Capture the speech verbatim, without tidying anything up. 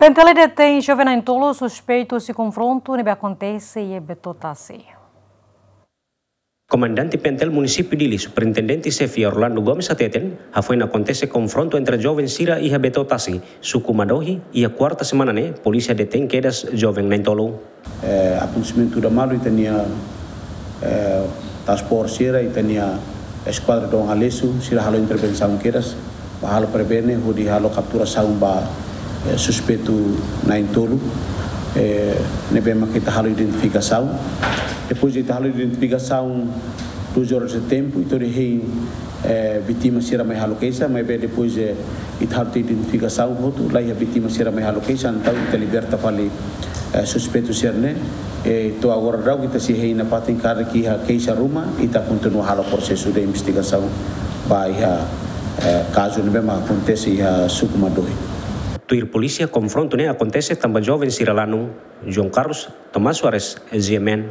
PNTL detein joven na'in-tolu suspeitu husi konfrontu ne'ebé akontese iha Beto Tasi. Komandante PNTL Munisípiu Dili, Superintendente Xefe Orlando Gomes hateten, hafoin akontese konfrontu entre joven sira iha Beto Tasi, suku Madohi, iha kuarta semana ne'e, polísia detein kedas joven na'in-tolu. Eh, akontesimentu ida malu ita-nia, eh, task force sira, ita-nia eskuadra Dom Aleixo, sira halo intervensaun kedas, ba halo prevene, hodi halo kapturasaun ba, eh, suspeitu na'in-tolu, eh, ne'ebé mak ita halo identifikasaun. Depois ita halo identifikasaun duas horas de tempo, ita hein, eh, vítima sira mai halo keixa, maibé depois, eh, ita halo identifikasaun hotu, la iha vítima sira mai halo keixa, entaun ita liberta fali, eh, suspeitu sira-ne'e, eh, to'o agora daudaun ita sei hein nafatin karik iha keixa ruma, ita kontinua halo prosesu de investigasaun ba iha, eh, kazu ne'ebé mak akontese iha suku Madohi. Tuir polísia, konfrontu ne'e akontese tanba joven sira lanu. João Carlos, Tomás Soares, G M N.